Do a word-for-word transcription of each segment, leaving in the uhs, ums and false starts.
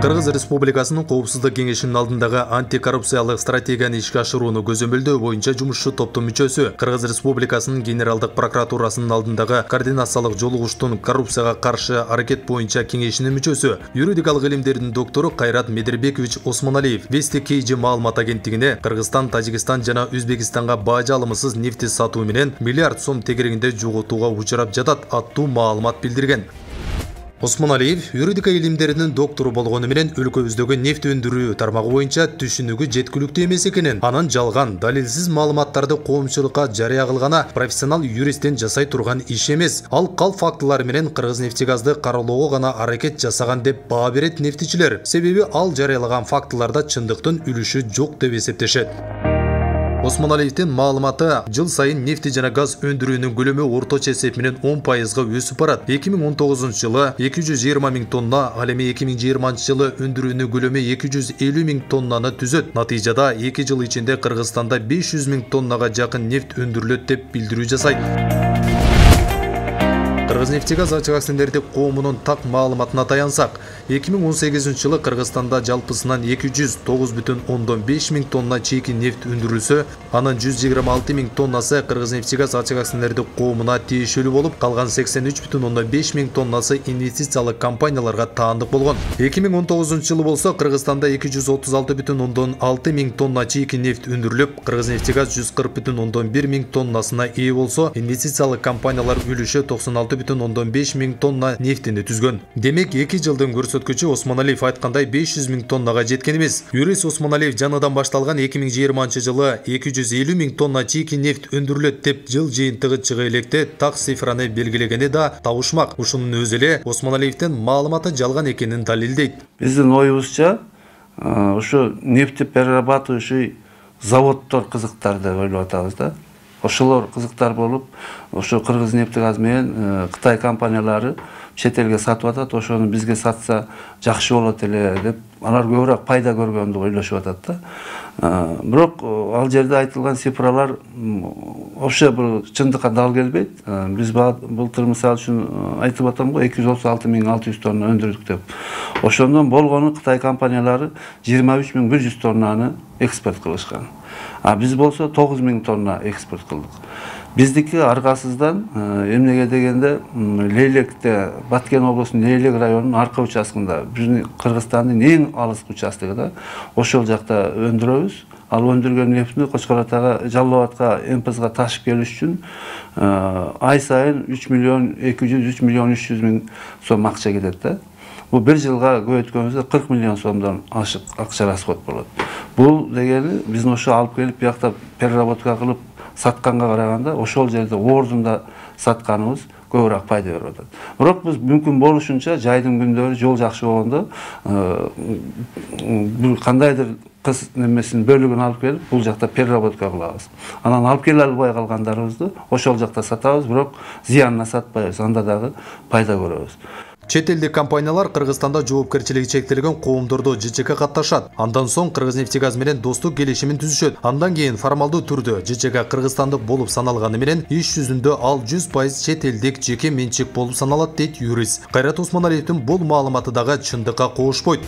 Кыргыз Республикасынын Коопсуздук кеңешинин алдындагы антикоррупциялык стратегияны ишке ашырууну көзөмөлдөө боюнча жумушчу топтун мүчөсү Кыргыз Республикасынын Генералдык прокуратурасынын алдындагы координациялык жолугуштун коррупцияга каршы аракет боюнча кеңешинин мүчөсү, юридикалык илимдердин доктору Кайрат Медербекович Осмоналиев Вести Кейджи маалымат агенттигине Кыргызстан, Тажикстан жана Өзбекстанга бажы алымсыз нефти сатуу менен миллиард сом тегерегинде жоготууга учурап жатат аттуу маалымат билдирген. Осмоналиев юридика илимдеринин доктору болгону менен өлкөбүздөгү нефть өндүрүү тармагы боюнча түшүнүгү жеткиликтүү эмес экенин, анын жалган, далилсиз маалыматтарды коомчулукка жарыя кылганы профессионал юристтен жасай турган иш эмес. Ал кал фактылар менен Кыргызнефтегазды кароолоого гана аракет жасаган деп баа берет нефтичилер. Себеби ал жарыялаган фактыларда чындыктын үлүшү жок деп эсептешет. Осмоналиевдин маалыматы жыл сайын нефти жана газ өндүрүүнүн көлөмү орточо эсеп менен он пайызга өсүп барат. эки миң он тогузунчу жылы эки жүз жыйырма миң тонна, ал эми эки миң жыйырманчы жылы өндүрүүнүн көлөмү эки жүз элүү миң тоннаны түзөт. Натыйжада эки жыл ичинде Кыргызстанда беш жүз миң тоннага жакын нефть өндүрүлөт деп билдирүү жасайт. Кыргызнефтегаз ачык акционердик коомунун так маалыматына таянсак, эки миң он сегизинчи жылы Кыргызстанда жалпысынан эки жүз тогуз бүтүн ондон беш миң тонна чийки нефть өндүрүлсө, анын жүз жыйырма алты миң тоннасы Кыргызнефтегаз ачык акционердик коомуна тиешелүү болуп, калган сексен үч бүтүн ондон беш миң тоннасы инвестициялык компанияларга таандык болгон. эки миң он тогузунчу жылы болсо Кыргызстанда эки жүз отуз алты бүтүн ондон алты миң тонна чийки нефть өндүрүлүп, Кыргызнефтегаз жүз кырк бүтүн ондон бир миң тоннасына ээ болсо, инвестициялык компаниялар үлүшү токсон алты бүтүн ондон беш миң тонна нефтини түзгөн. Демек эки жылдын көрсөткүчү Осмоналиев айткандай беш жүз миң тоннага жеткен эмес. Юрист Осмоналиев жаныдан башталган эки миң жыйырманчы жылы эки жүз элүү миң тонна чийки нефть өндүрүлөт деп жыл жыйынтыгы чыга электе так цифраны белгилегени да табышмак. Ушунун өзү эле Осмоналиевдин маалыматы жалган экенин далилдейт. Биздин оюбузча ушу нефти перерабатывающий заводдор кызыктар деп ойлоп атабыз да. Ошолор кызыктар болуп, ошо Кыргызнефтегаз менен Кытай компаниялары чет элге сатып атат, ошону бизге сатса жакшы болот эле деп, алар көбүрөөк пайда көргөндү ойлошуп атат да. Бирок ал жерде айтылган цифралар вообще бул чындыкка дал келбейт. Биз былтыр мисалы үчүн айтып атам го эки жүз отуз алты миң алты жүз тонна өндүрдүк деп. Ошондон болгону Кытай компаниялары жыйырма үч миң бир жүз тоннаны экспорт кылышкан. А биз болсо тогуз миң тонна экспорт кылдык. Биздики аргасыздан эмнеге дегенде Лейлекте, Баткен облусунун Лейлек районунун арка участкында, биздин Кыргызстандын эң алыскы участогу да, ошол жакта өндүрөбүз. Ал өндүргөн нефтини Кочкор Атага, Жалал Абадка, Эмпизга ташып келиш үчүн ай сайын үч миллион эки жүз үч миллион үч жүз миң сом акча кетет да. Бул бир жылга көбөйткөнүбүздө кырк миллион сомдон ашык акча расход болот. Бул дегени биздин ошо алып келип биякта переработка кылып сатканга караганда ошол жерде ордунда сатканыбыз көбүрөөк пайда берип атат. Бирок биз мүмкүн болушунча жайдын күндөрү жол жакшы болгондо бир кандайдыр кыз немесин бөлүгүн алып келип бул жакта переработка кылабыз. Анан алып келе албай калгандарыбызды ошол жакта сатабыз, бирок зыянына сатпайбыз, анда дагы пайда көрөбүз. Чет элдик компаниялар Кыргызстанда жоопкерчилиги чектелген коомдордо ЖЧК катташат. Андан соң Кыргызнефтегаз менен достук келишимин түзүшөт. Андан кийин формалдуу түрдө ЖЧК кыргызстандык болуп саналганы менен иш жүзүндө ал жүз пайыз чет элдик жеке менчик болуп саналат дейт юрист. Кайрат Осмоналиевдин бул маалыматы дагы чындыкка коошпойт.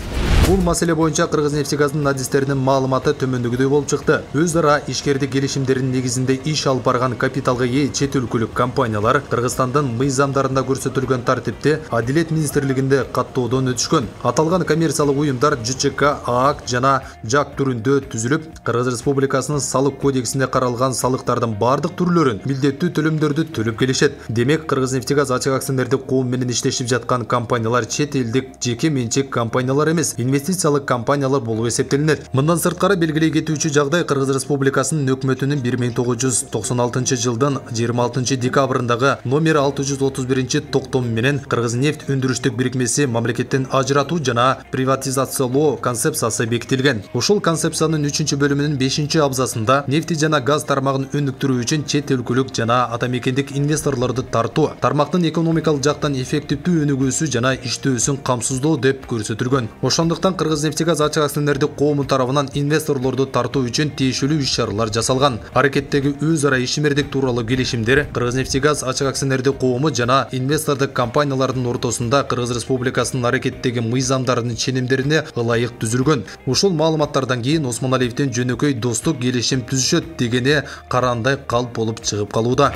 Бул маселе боюнча Кыргызнефтегаздын адистеринин маалыматы төмөндөгүдөй болуп чыкты. Өз ара ишкердик келишимдеринин негизинде иш алып барган капиталга ээ чет өлкөлүк компаниялар Кыргызстандын мыйзамдарында көрсөтүлгөн тартипте Адилет министрлигинде каттоодон өтүшкөн. Аталган коммерциялык уюмдар ЖЧК, ААК жана ЖАК түрүндө түзүлүп, Кыргыз Республикасынын салык кодексинде каралган салыктардын бардык түрлөрүн милдеттүү төлөмдөрдү төлөп келишет. Демек, Кыргызнефтегаз ачык акционердик коом менен иштешип жаткан компаниялар чет элдик жеке менчик компаниялар эмес, инвестициялык компаниялар болуп эсептелинет. Мындан сырткары белгилей кетүүчү жагдай Кыргыз Республикасынын өкмөтүнүн бир миң тогуз жүз токсон алтынчы жылдын жыйырма алтынчы декабрындагы номер алты жүз отуз биринчи токтому менен Кыргызнефть өндүрүштүк бирикмеси мамлекеттен ажыратуу жана приватизациялоо концепциясы бекитилген. Ушул концепциянын үчүнчү бөлүмүнүн бешинчи абзасында нефти жана газ тармагын өнүктүрүү үчүн чет өлкөлүк жана атамекендик инвесторлорду тартуу, тармактын экономикалык жактан эффективдүү өнүгүүсү жана иштөөсүн камсыздоо деп көрсөтүлгөн. Ошондуктан ошондуктан Кыргызнефтегаз ачык акционердик коому тарабынан инвесторлорду тартуу үчүн тиешелүү иш-чаралар жасалган. Аракеттеги өз ара ишмердик тууралуу келишимдер Кыргызнефтегаз ачык акционердик коому жана инвестордук компаниялардын ортосунда Кыргыз Республикасынын аракеттеги мыйзамдарынын ченемдерине ылайык түзүлгөн. Ушул маалыматтардан кийин Осмоналиевдин жөнөкөй достук келишим түзүшөт дегени карандай калп болуп чыгып калууда.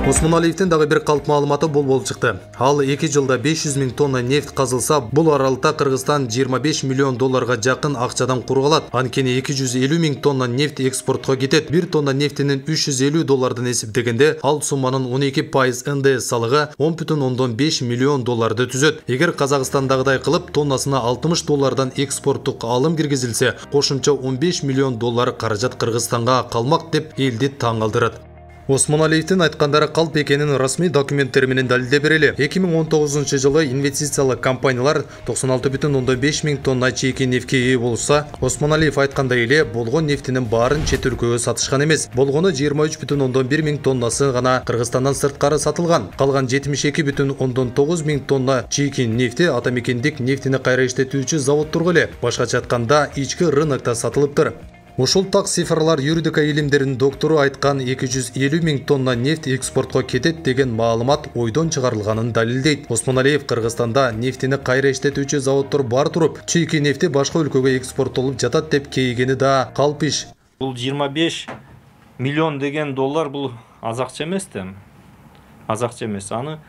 Осмоналиевдин дагы бир калп маалыматы бул болуп чыкты. Ал эки жылда беш жүз миң тонна нефть казылса, бул аралыкта Кыргызстан жыйырма беш миллион долларга жакын акчадан кургалат. Анткени эки жүз элүү миң тонна нефть экспортко кетет. бир тонна нефтинин үч жүз элүү доллардан эсептегенде, ал сумманын он эки пайыз эн дэ эс салыгы он бүтүн ондон беш миллион долларды түзөт. Эгер Казакстандагыдай кылып тоннасына алтымыш доллардан экспорттук алым киргизилсе, кошумча он беш миллион доллар каражат Кыргызстанга калмак деп элди таң калтырат. Осмоналиевдин айткандары калп экенин расмий документтер менен далилдеп берели. эки миң он тогузунчу жылы инвестициялык компаниялар токсон алты бүтүн ондон беш миң тонна чийки нефтке ээ болса, Осмоналиев айткандай эле болгон нефтинин баарын чет өлкөгө сатышкан эмес. Болгону жыйырма үч бүтүн ондон бир миң тоннасы гана Кыргызстандан сырткары сатылган. Калган жетимиш эки бүтүн ондон тогуз миң тонна чийки нефти атамекендик нефтини кайра иштетүүчү заводторго эле, башкача айтканда ички рынокто сатылыптыр. Ушул так цифрлар юридика илимдеринин доктору айткан эки жүз элүү миң тонна нефть экспортко кетет деген маалымат ойдон чыгарылганын далилдейт. Осмоналиев Кыргызстанда нефтини кайра иштетүүчү заводдор бар туруп, чийки нефти башка өлкөгө экспорттолуп жатат деп кейгени да калп иш. Бул жыйырма беш миллион деген доллар бул аз акча эмес да. Аз акча эмес. Аны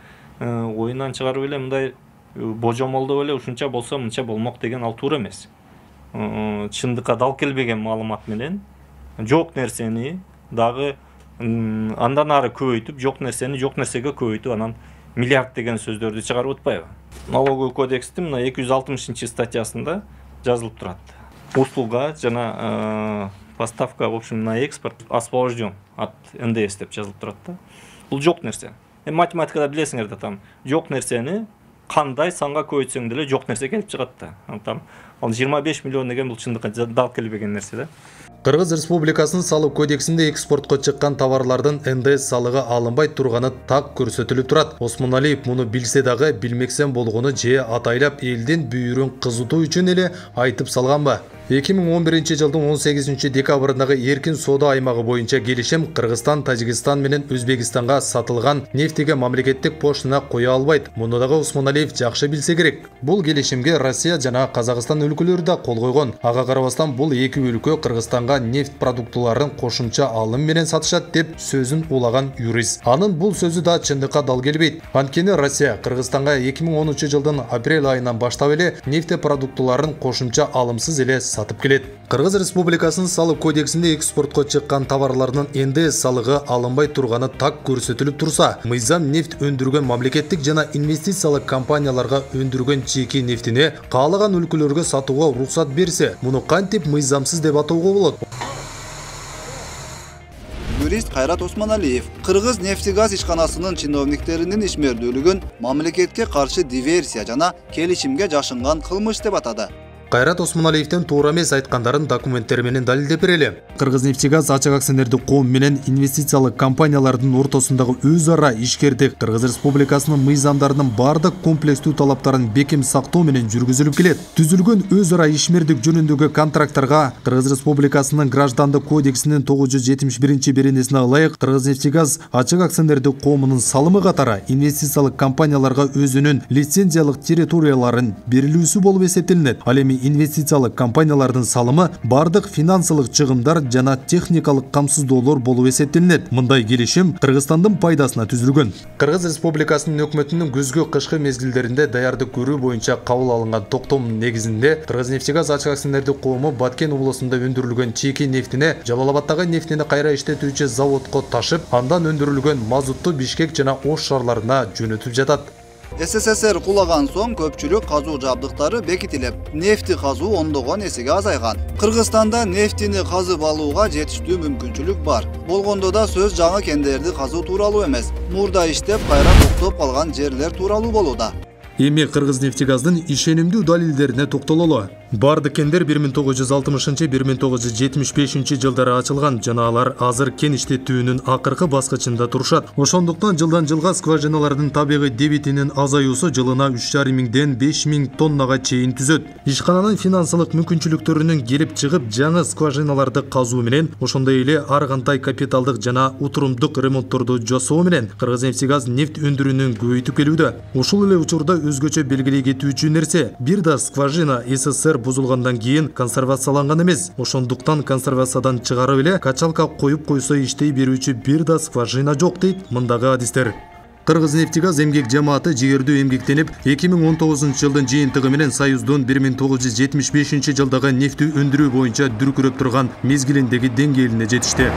оюнан чыгарып эле мындай божомолдоп эле ушунча болсо мынча болмок деген ал туура эмес. Чындыкка дал келбеген маалымат менен жок нерсени дагы андан ары көбөйтүп, жок нерсени жок нерсеге көбөйтүп, анан миллиард деген сөздөрдү чыгарып атпайбы? Налоговый кодекстин мына эки жүз алтымышынчы статьясында жазылып турат. Услуга жана поставка, в общем, на экспорт освобожден от эн дэ эс деп жазылып турат да. Бул жок нерсе. Эми математикада билесиңер да, там жок нерсени кандай санга көбөйтсөң деле жок нерсе келип чыгат да. Там ал жыйырма беш миллион деген бул чындыкка дал келбеген нерсе да. Кыргыз Республикасынын салык кодексинде экспортко чыккан товарлардын эн дэ эс салыгы алынбай турганы так көрсөтүлүп турат. Осмоналиев муну билсе дагы билмексен болгону же атайлап элдин бүйүрүн кызытуу үчүн эле айтып салганбы? эки миң он биринчи жылдын он сегизинчи декабрындагы эркин соода аймагы боюнча келишим Кыргызстан, Тажикстан менен Өзбекстанга сатылган нефтиге мамлекеттик поштына кое албайт. Муну дагы Осмоналиев жакшы билсе керек. Бул келишимге Россия жана Казакстан өлкөлөрү да кол койгон. Ага карабастан бул эки өлкө Кыргызстанга нефть продуктларын кошумча алым менен сатышат деп сөзүн улаган юрист. Анын бул сөзү да чындыкка дал келбейт. Анткени Россия Кыргызстанга эки миң онунчу жылдын апрель айынан баштап эле нефть продуктларын кошумча алымсыз эле сатып келет. Кыргыз Республикасынын салык кодексинде экспортко чыккан товарлардын эн дэ эс салыгы алынбай турганы так көрсөтүлүп турса, мыйзам нефть өндүргөн мамлекеттик жана инвестициялык компанияларга өндүргөн чийки нефтини каалаган өлкөлөргө сатууга уруксат берсе, муну кантип мыйзамсыз деп атоого болот? Юрист Кайрат Осмоналиев Кыргыз нефтегаз ишканасынын чиновниктеринин ишмердүүлүгүн мамлекетке каршы диверсия жана келишимге жашынган кылмыш деп атады. Кайрат Осмоналиевдин туура эмес айткандарын документтер менен далилдеп берели. Кыргызнефтегаз ачык акционердик коом менен инвестициялык компаниялардын ортосундагы өз ара ишкердик Кыргыз Республикасынын мыйзамдарынын бардык комплекстүү талаптарын бекем сактоо менен жүргүзүлүп келет. Түзүлгөн өз ара ишмердик жөнүндөгү контракттарга Кыргыз Республикасынын граждандык кодексинин тогуз жүз жетимиш биринчи беренесине ылайык Кыргызнефтегаз ачык акционердик коомунун салымы катары инвестициялык компанияларга өзүнүн лицензиялык территорияларын берилүүсү болуп эсептелинет. Ал эми инвестициялык компаниялардын салымы бардык финансылык чыгымдар жана техникалык камсыздоолор болуп эсептелинет. Мындай келишим Кыргызстандын пайдасына түзүлгөн. Кыргыз Республикасынын өкмөтүнүн күзгү кышкы мезгилдеринде даярдык көрүү боюнча кабыл алынган токтомдун негизинде Кыргызнефтегаз ачык акционердик коому Баткен облусунда өндүрүлгөн чийки нефтини Жалал-Абадтагы нефтини кайра иштетүүчү заводко ташып, андан өндүрүлгөн мазутту Бишкек жана Ош шаарларына жөнөтүп жатат. эс эс эс эр кулаган соң көпчүлүк казуу жабдыктары бекитилип, нефти казуу ондогон эсеге азайган. Кыргызстанда нефтини казып алууга жетиштүү мүмкүнчүлүк бар. Болгондо да сөз жаңы кендерди казуу тууралуу эмес, мурда иштеп кайра токтоп калган жерлер тууралуу болууда. Эми Кыргызнефтегаздын ишенимдүү далилдерине токтололу. Барды кендер бир миң тогуз жүз алтымышынчы — бир миң тогуз жүз жетимиш бешинчи жылдары ачылган жана алар азыр кен иштетүүнүн акыркы баскычында турушат. Ошондуктан жылдан жылга скважиналардын табигый дебитинин азаюусу жылына үч жарым миңден беш миң тоннага чейин түзөт. Ишкананын финансылык мүмкүнчүлүктөрүнүн келип чыгып жаңы скважиналарды казуу менен, ошондой эле ар кандай капиталдык жана утурумдук ремонтторду жасоо менен Кыргызнефтегаз нефть өндүрүүнүн көбөйтүп келүүдө. Ушул эле учурда өзгөчө белгилей кетүүчү нерсе, бир да скважина СССР бузулгандан кийин консервацияланган эмес. Ошондуктан консервациядан чыгарып эле качалка коюп койсо иштей берүүчү бир да скважина жок дейт мындагы адистер. Кыргызнефтегаз эмгек жамааты жигердүү эмгектенип, эки миң он тогузунчу жылдын жыйынтыгы менен Союздун бир миң тогуз жүз жетимиш бешинчи жылдагы нефть өндүрүү боюнча дүркүрөп турган мезгилиндеги деңгээлине жетишти.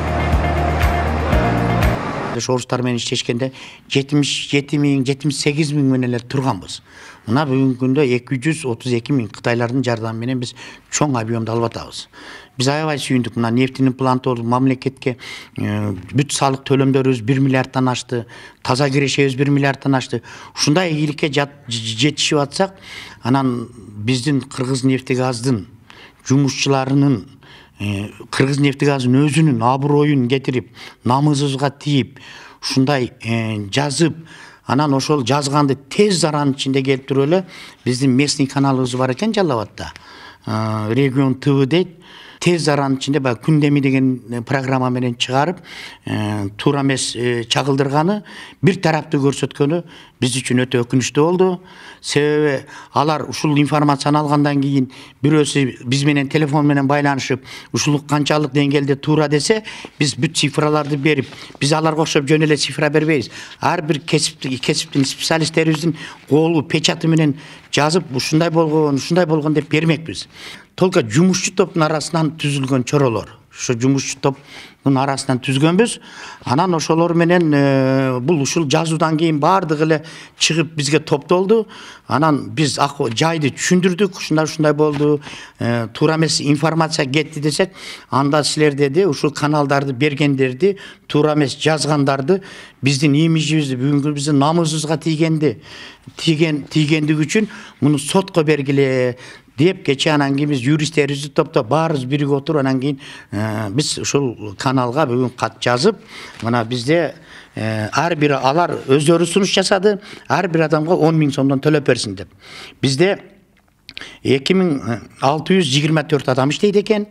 Орустар менен иштешкенде жетимиш жети миң жетимиш сегиз миң менен эле турганбыз. Мына бүгүнкү күндө эки жүз отуз эки миң Кытайлардын жардамы менен биз чоң объемду алып атабыз. Биз аябай сүйүндүк. Мына нефтинин планты мамлекетке бүт салык төлөмдөрүбүз бир миллиардтан ашты, таза кирешебиз бир миллиардтан ашты. Ушундай ийгиликке жетишип атсак, анан биздин Кыргызнефтегаздын жумушчуларынын Кыргызнефтегаздын өзүнүн аброюн кетирип, намыбызга тийип, ушундай жазып, анан ошол жазганды тез аранын ичинде келип туруп эле биздин местный каналыбыз бар экен Жалал Абадта. Регион ТВ дейт. Тез аранын ичинде баягы күндеми деген программа менен чыгарып, туура эмес чагылдырганы, бир тараптуу көрсөткөнү биз үчүн өтө өкүнүчтүү болду. Себеби алар ушул информацияны алгандан кийин бирөөсү биз менен телефон менен байланышып, ушул канчалык деңгээлде туура десе, биз бүт цифраларды берип, биз аларга окшоп жөн эле цифра бербейбиз. Ар бир кесиптик кесиптин специалисттерибиздин колу печаты менен жазып, ушундай болгон, ушундай болгон деп бермекпиз. Только жумушчу топтун арасынан түзүлгөн чоролор. Ошо жумушчу топтун арасынан түзгөнбүз. Анан ошолор менен бул ушул жазуудан кийин бардыгы эле чыгып бизге топтолду. Анан биз жайды түшүндүрдүк, ушундай ушундай болду, туура эмес информация кетти десек, анда силер деди, ушул каналдарды бергендерди, туура эмес жазгандарды, биздин имиджибизди, бүгүнкү биздин намыбызга тийгенди, тийген тийгендиги үчүн муну сотко бергиле деп кече анан кийин биз юристтерибизди топтоп баарыбыз биригип отуруп анан кийин биз ушул каналга бүгүн кат жазып, мына бизде ар бир алар өздөрү сунуш жасады, ар бир адамга он миң сомдон төлөп берсин деп. Бизде эки миң алты жүз жыйырма төрт адам иштейт экен.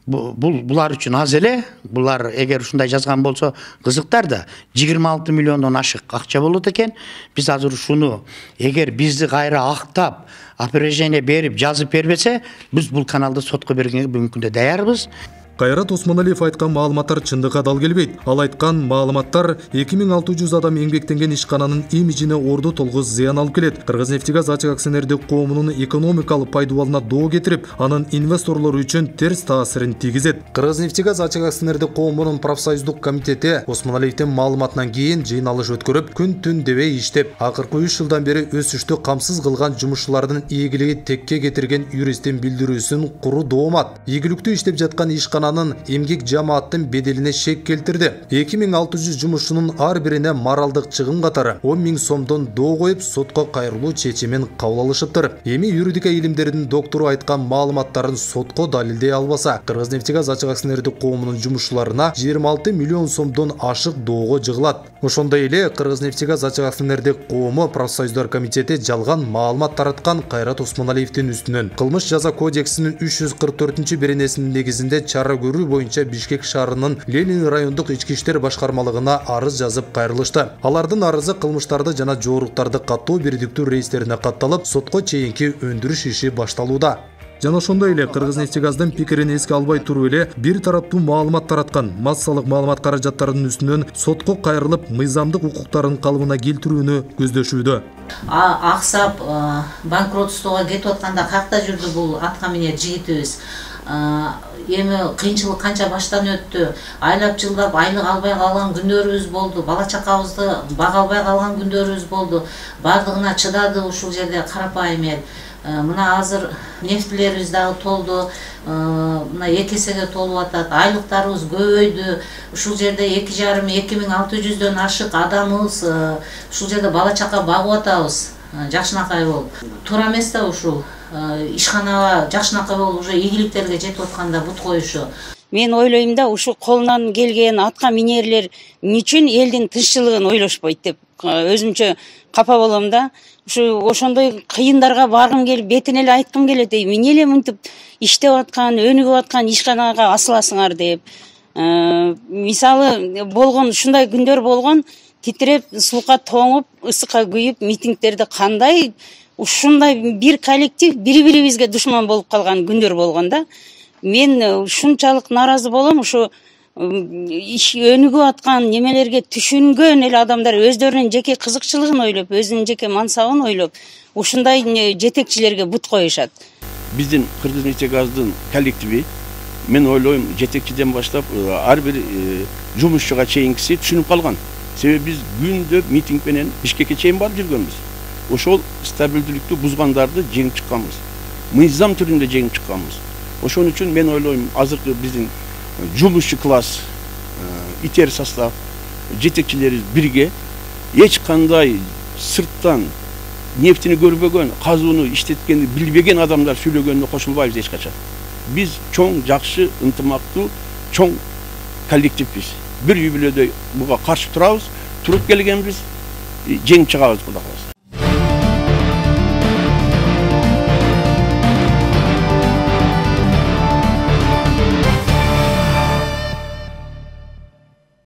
Бул булар үчүн аз эле. Булар эгер ушундай жазган болсо кызыктар да, жыйырма алты миллиондон ашык акча болот экен. Биз азыр ушуну эгер бизди кайра актап, опровержение берип, жазып бербесе, биз бул каналды сотко бергенге бүгүнкү күндө даярбыз. Кайрат Осмоналиев айткан маалыматтар чындыкка дал келбейт. Ал айткан маалыматтар эки миң алты жүз адам эмгектенген ишкананын имиджине орду толгуз зыян алып келет. Кыргызнефтегаз ачык акционердик коомунун экономикалык пайдубалына доо кетирип, анын инвесторлору үчүн терс таасирин тийгизет. Кыргызнефтегаз ачык акционердик коомунун профсоюздук комитети Осмоналиевдин маалыматынан кийин жыйналыш өткөрүп, күн-түн дебей иштеп, акыркы үч жылдан бери өсүштү камсыз кылган жумушчулардын ийгилиги текке кетирген юристтин билдирүүсүн куру доомат. Ийгиликтүү иштеп жаткан ишкана эмгек жамааттын беделине шек келтирди. эки миң алты жүз жумушчунун ар бирине моралдык чыгым катары он миң сомдон доо коюп, сотко кайрылуу чечимин кабыл алышыптыр. Эми юридика илимдеринин доктору айткан маалыматтарын сотко далилдей албаса, Кыргызнефтегаз ачык акционердик коомунун жумушчуларына жыйырма алты миллион сомдон ашык доого жыгылат. Ошондой эле Кыргызнефтегаз ачык акционердик коому профсоюздар комитети жалган маалымат тараткан Кайрат Осмоналиевдин үстүнөн кылмыш жаза кодексинин үч жүз кырк төртүнчү беренесинин негизинде чара көрүү боюнча Бишкек шаарынын Ленин райондук ички иштер башкармалыгына арыз жазып кайрылышты. Алардын арызы кылмыштарды жана жооруктарды каттоо бирдиктүү рейстерине катталып, сотко чейинки өндүрүш иши башталууда. Жана ошондой эле Кыргызнефтегаздын пикирин эске албай туруп эле бир тараптуу маалымат тараткан массалык маалымат каражаттарынын үстүнөн сотко кайрылып, мыйзамдык укуктарын калыбына келтирүүнү көздөшүүдө. Аксап банкротствого кетип атканда каякта жүрдү бул атка минер жигитибиз. Эми кыйынчылык канча баштан өттү, айлап жылдап айлык албай калган күндөрүбүз болду, бала чакабызды бага албай калган күндөрүбүз болду. Бардыгына чыдады ушул жерде карапайым эл. Мына азыр нефтилерибиз дагы толду, мына эки эсеге толуп атат, айлыктарыбыз көбөйдү. Ушул жерде эки жарым эки миң алты жүздөн ашык адамыбыз ушул жерде бала чака багып атабыз, жакшынакай болуп. Туура эмес да ушул. ишканага жакшынакай болуп уже ийгиликтерге жетип атканда бут коюшу. Мен ойлойм да, ушу колунан келген атка минерлер эмне үчүн элдин тынччылыгын ойлошпойт деп өзүмчө капа болом да. Ушу ошондой кыйындарга баргым келип, бетине эле айткым келет, эмне эле мынтип иштеп аткан, өнүгүп аткан ишканага асыласыңар деп. Мисалы болгон ушундай күндөр болгон, титиреп, суука тоңуп, ысыкка күйүп, митингдерди кандай ушундай бир коллектив бири-бирибизге душман болуп калган күндөр болгон да. Мен ушунчалык нааразы болом, ушу өнүгүп аткан немелерге түшүнгөн эле адамдар өздөрүнүн жеке кызыкчылыгын ойлоп, өзүнүн жеке мансабын ойлоп, ушундай жетекчилерге бут коюшат. Биздин Кыргыз-Нефтегаздын коллективи, мен ойлойм, жетекчиден баштап ар бир жумушчуга чейинкиси түшүнүп калган. Себеби биз күндө митинг менен Бишкекке чейин барып жүргөнбүз. Ошол стабилдүүлүктү бузгандарды жеңип чыкканбыз. Мыйзам түрүндө жеңип чыкканбыз. Ошон үчүн мен ойлойм, азыркы биздин жумушчу класс, итер состав, жетекчилери бирге эч кандай сырттан нефтини көрбөгөн, казууну иштеткенди билбеген адамдар сүйлөгөнүнө кошулбайбыз эч качан. Биз чоң, жакшы, ынтымактуу, чоң коллективбиз. Бир үй бүлөдөй буга каршы турабыз, туруп келгенбиз, жеңип чыгабыз Кудай кааласа.